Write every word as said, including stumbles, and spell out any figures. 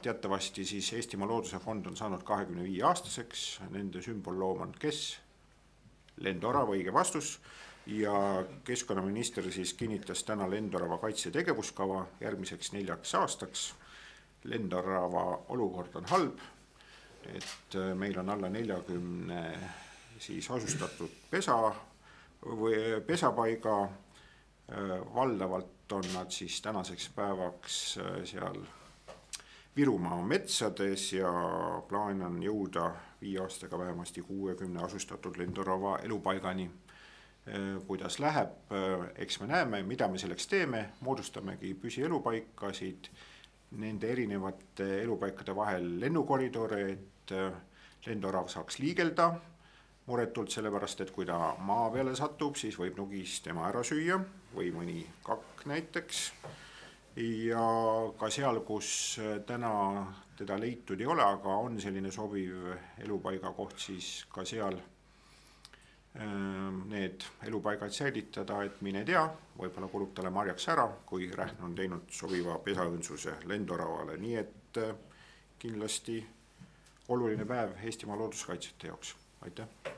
Teatavasti siis Eestimaa Looduse Fond on saanud kahekümne viie aastaseks, nende sümbolloom on kes? Lendorava, õige vastus. Ja keskkonnaminister siis kinnitas täna Lendorava kaitse tegevuskava järgmiseks neljaks aastaks. Lendorava olukord on halb, et meil on alla neljakümne siis asustatud pesa või pesapaiga. Valdavalt on nad siis tänaseks päevaks seal Virumaa metsades ja plaan on jõuda viie aastaga vähemasti kuuekümne asustatud Lendorava elupaigani. Kuidas läheb, eks me näeme, mida me selleks teeme, moodustamegi püsielupaikasid, nende erinevate elupaikade vahel lennukoridore, et Lendorav saaks liigelda muretult sellepärast, et kui ta maa peale satub, siis võib nugis tema ära süüa või mõni kakk näiteks. Ja ka seal, kus täna teda leitud ei ole, aga on selline sobiv elupaiga koht, siis ka seal need elupaigad säilitada, et mine tea, võib-olla kulub talle marjaks ära, kui Rähn on teinud sobiva pesaõnsuse Lendoravale. Nii et kindlasti oluline päev Eestimaa looduskaitsjate jaoks. Aitäh!